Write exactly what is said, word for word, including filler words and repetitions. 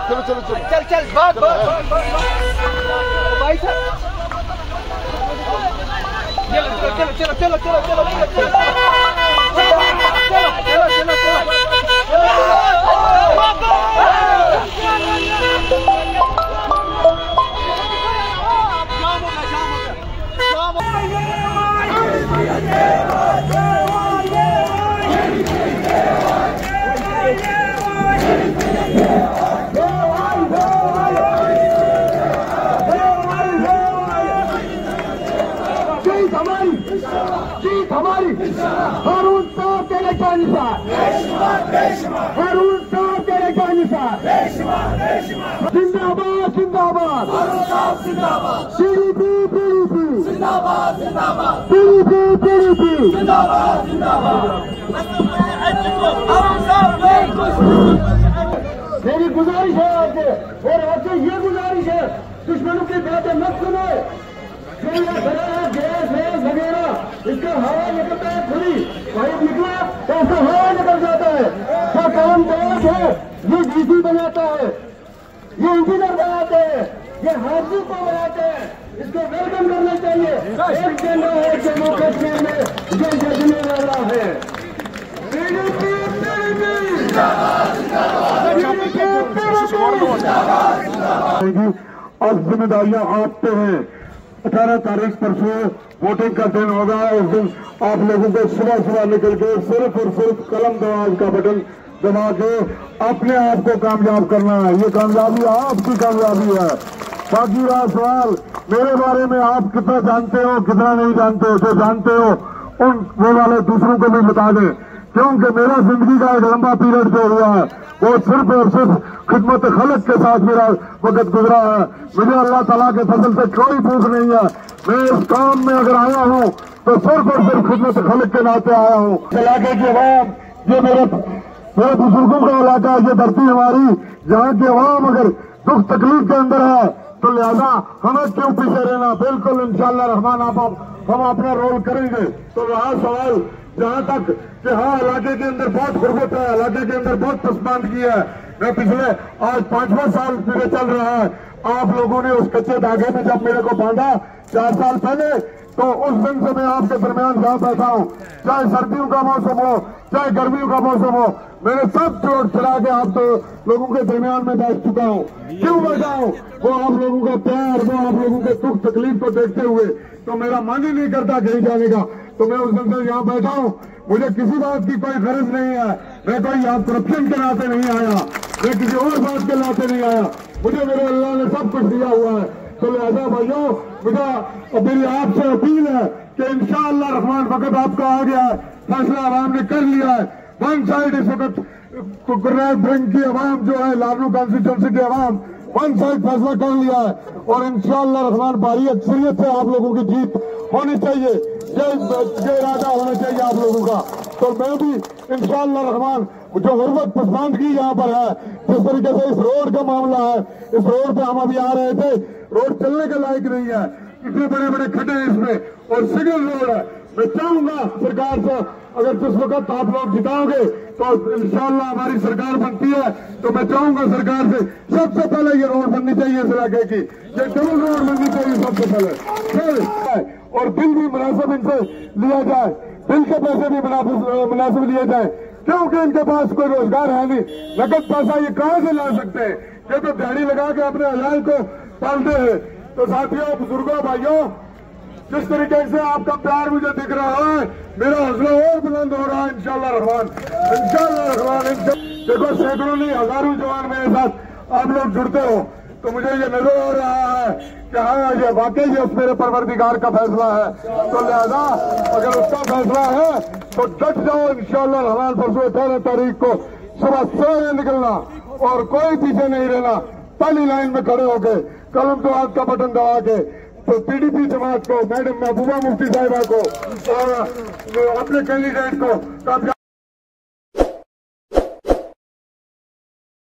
چلو، چلو، چلو۔ چل، چل، بھاگ، بھاگ، بھاگ، بھاگ، بھاگ۔ بھائی صاحب۔ چلو، چلو، چلو۔ جیت ہماری، جیت ہماری۔ ہارون صاحب تیرے جان نثار، ہارون صاحب تیرے جان نثار۔ زندہ باد، زندہ باد۔ پی ڈی پی، پی ڈی پی۔ پی ڈی پی، پی ڈی پی۔ میری گزارش ہے آپ سے، اور آپ سے یہ گزارش ہے، دشمنوں کی باتیں مت سنو۔ جو یہ بنا ہے گیس ویس وغیرہ، اس کا ہوا نکلتا ہے، کھلی پائپ نکلا تو اس کا ہوا نکل جاتا ہے۔ جو قلم دراز ہے، یہ ڈی سی بناتا ہے، یہ انجینئر بناتے ہیں، یہ حاجی کو بناتے ہیں، اس کو ویلکم کرنا چاہیے۔ ایک جھنڈا ہے جموں کشمیر میں، یہ جگنے والا ہے۔ اب ذمہ داریاں آپ پہ ہیں۔ اٹھارہ تاریخ پرسوں ووٹنگ کا دن ہوگا، اس دن آپ لوگوں کو صبح صبح نکل کے صرف اور صرف قلم دراز کا بٹن دبا کے اپنے آپ کو کامیاب کرنا ہے۔ یہ کامیابی آپ کی کامیابی ہے۔ باقی رہا سوال، میرے بارے میں آپ کتنا جانتے ہو، کتنا نہیں جانتے ہو، جو جانتے ہو ان وہ والے دوسروں کو بھی بتا دیں، کیونکہ میرا زندگی کا ایک لمبا پیریڈ جو ہوا ہے، وہ صرف اور صرف خدمت خلق کے ساتھ میرا وقت گزرا ہے۔ مجھے اللہ تعالیٰ کے فضل سے کوئی بھوک نہیں ہے۔ میں اس کام میں اگر آیا ہوں تو صرف اور صرف خدمت خلق کے ناطے آیا ہوں۔ علاقے کی عوام، یہ میرے، میرے بزرگوں کا علاقہ ہے، یہ دھرتی ہماری، یہاں کی عوام اگر دکھ تکلیف کے اندر ہے تو لہذا ہمیں کیوں پیچھے رہنا؟ بالکل انشاءاللہ رحمان آپ، ہم اپنا رول کریں گے۔ تو رہا سوال جہاں تک کہ ہاں، علاقے کے اندر بہت غربت ہے، علاقے کے اندر بہت پسماندگی ہے۔ میں پچھلے، آج پانچواں سال میرے چل رہا ہے، آپ لوگوں نے اس کچے دھاگے میں جب میرے کو باندھا چار سال پہلے، تو اس دن سے میں آپ کے درمیان یہاں بیٹھا ہوں، چاہے سردیوں کا موسم ہو، چاہے گرمیوں کا موسم ہو، میں نے سب چھوڑ چھڑا کے آپ تو لوگوں کے درمیان میں بیٹھ چکا ہوں۔ کیوں بیٹھا ہوں؟ وہ آپ لوگوں کا پیار، وہ آپ لوگوں کے دکھ تکلیف کو دیکھتے ہوئے تو میرا من ہی نہیں کرتا کہیں جانے کا۔ تو میں اس دن سے یہاں بیٹھا ہوں، مجھے کسی بات کی کوئی غرض نہیں ہے۔ میں کوئی آپ کرپشن کے ناطے نہیں آیا، میں کسی اور بات کے ناطے نہیں آیا۔ مجھے میرے اللہ نے سب کچھ دیا ہوا ہے۔ تو لہذا بھائیوں، مجھے، میری آپ سے اپیل ہے کہ انشاءاللہ رحمان وقت آپ کا آ گیا ہے، فیصلہ عوام نے کر لیا ہے۔ ون سائیڈ اس وقت گرنیڈ برنگ کی عوام جو ہے، لارنو کانسٹیٹوئنسی کی عوام ون سائیڈ فیصلہ کر لیا ہے، اور انشاءاللہ رحمان بھاری اکثریت سے آپ لوگوں کی جیت ہونی چاہیے۔ یہ، یہ ارادہ ہونا چاہیے آپ لوگوں کا۔ تو میں بھی انشاءاللہ رحمان، جو غربت پسماندگی یہاں پر ہے، جس طریقے سے اس روڈ کا معاملہ ہے، اس روڈ پہ ہم ابھی آ رہے تھے، روڈ چلنے کے لائق نہیں ہے، اتنے بڑے بڑے کھڈے ہیں اس میں، اور سنگل روڈ ہے۔ میں چاہوں گا سرکار سے، اگر جس وقت آپ لوگ جتاؤ گے تو انشاءاللہ ہماری سرکار بنتی ہے، تو میں چاہوں گا سرکار سے، سب سے پہلے یہ روڈ بننی چاہیے اس علاقے کی، یہ ڈبل روڈ بننی چاہیے سب سے پہلے۔ پھر اور بل بھی مناسب ان سے لیا جائے، بل کے پیسے بھی مناسب، مناسب لیے جائیں، کیونکہ ان کے پاس کوئی روزگار ہے نہیں، نقد پیسہ یہ کہاں سے لا سکتے ہیں؟ یہ تو دیہڑی لگا کے اپنے عیال کو پالتے ہیں۔ تو ساتھیوں، بزرگوں، بھائیوں، جس طریقے سے آپ کا پیار مجھے دکھ رہا ہے، میرا حوصلہ اور بلند ہو رہا ہے انشاءاللہ رحمان، انشاءاللہ رحمان، انشاءاللہ۔ دیکھو، سینکڑوں نہیں، ہزاروں جوان میرے ساتھ آپ لوگ جڑتے ہو، تو مجھے یہ نظر آ رہا ہے کہ ہاں، یہ واقعی یہ اس میرے پروردگار کا فیصلہ ہے۔ تو لہذا اگر اس کا فیصلہ ہے تو ڈٹ جاؤ، انشاءاللہ رحمان پرسوں اٹھارہ تاریخ کو صبح سویرے نکلنا اور کوئی پیچھے نہیں رہنا، پہلی لائن میں کھڑے ہو کے قلم تو ہاتھ کا بٹن دبا کے تو پی ڈی پی جماعت کو، میڈم محبوبہ مفتی صاحبہ کو اور اپنے کینڈیڈیٹ کو کامیاب